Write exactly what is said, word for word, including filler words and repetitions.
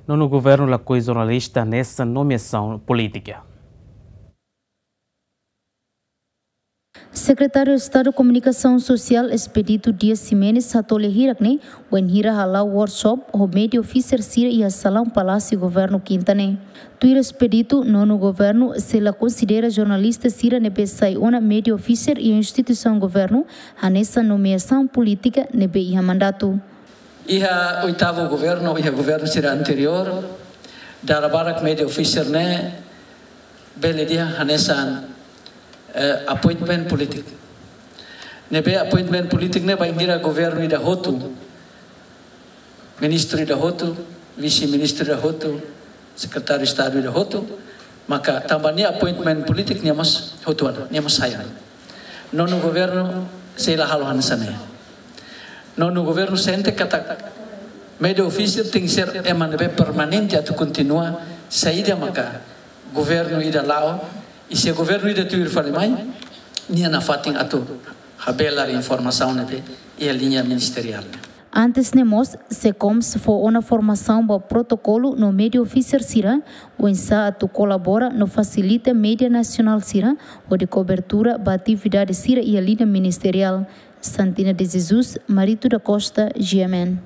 Nonu governu lakohi jornalista hanesan nomeasaun polítika. Sekretáriu Estadu Komunikasaun Sosiál Expedito Dias Ximenes hato'o lia hirak ne'e, wainhira hala'o workshop ho media officer sira iha salaun Palásiu Governu Kinta ne'e. Tuir Expedito, nonu governu sei la konsidera jornalista sira ne'ebé sai ona media officer iha instituisaun governu hanesan nomeasaun polítika ne'ebé iha mandatu. Iha oitavu governu, iha governu sira anteriór, dala barak media officer ne'e bele dehan hanesan, eh, appointment polítiku. Ne'ebé appointment polítiku ne'e bainhira governu ida hotu, ministru ida hotu, vise-ministru ida hotu, sekretáriu Estadu ida hotu, maka tanba nia appointment polítiku nia mós hotu ona, nia mós sai ona. Nonu governu sei la halo hanesan ne'e. Nonu governu sente katak media officer tenke ser ema ne'ebé permanente atu kontinua saida maka governu ida la'o, i se governu ida tuir fali mai, nia nafatin atu habelar informasaun ne'ebé iha liña ministeriál. Antes ne'e mós, SECOMS fó ona formasaun ba protokolu no media officer sira, oinsá atu kolabora no fasilita media nasionál sira hodi kobertura ba atividade sira iha liña ministeriál. Santina de Jesus, Marito da Costa, G M N.